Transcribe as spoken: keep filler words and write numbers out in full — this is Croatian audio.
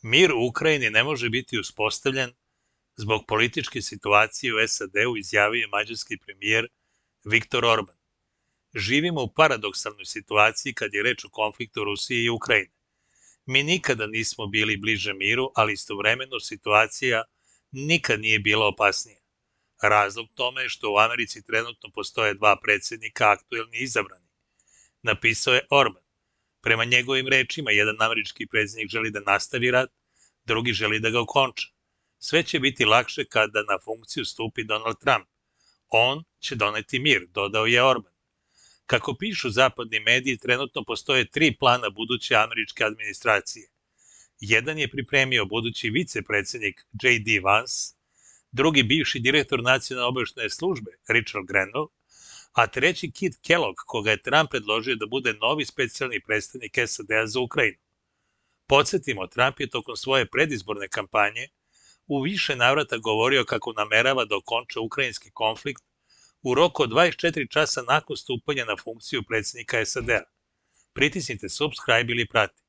Mir u Ukrajini ne može biti uspostavljen zbog političke situacije u S A D-u, izjavio je mađarski premijer Viktor Orban. Živimo u paradoksalnoj situaciji kad je reč o konfliktu Rusije i Ukrajine. Mi nikada nismo bili bliže miru, ali istovremeno situacija nikad nije bila opasnija. Razlog tome je što u Americi trenutno postoje dva predsjednika, aktuelni i izabrani, napisao je Orban. Prema njegovim rečima, jedan američki predsjednik želi da nastavi rat, drugi želi da ga okonča. Sve će biti lakše kada na funkciju stupi Donald Trump. On će doneti mir, dodao je Orban. Kako pišu zapadni mediji, trenutno postoje tri plana buduće američke administracije. Jedan je pripremio budući vicepredsjednik J D Vance, drugi bivši direktor nacionalne obavještajne službe Richard Grenell, a treći Kit Kellogg, koga je Trump predložio da bude novi specijalni predstavnik S A D-a za Ukrajinu. Podsjetimo, Trump je tokom svoje predizborne kampanje u više navrata govorio kako namerava da okonča ukrajinski konflikt u roku od dvadeset četiri časa nakon stupanja na funkciju predsjednika S A D-a. Pritisnite subscribe ili prati.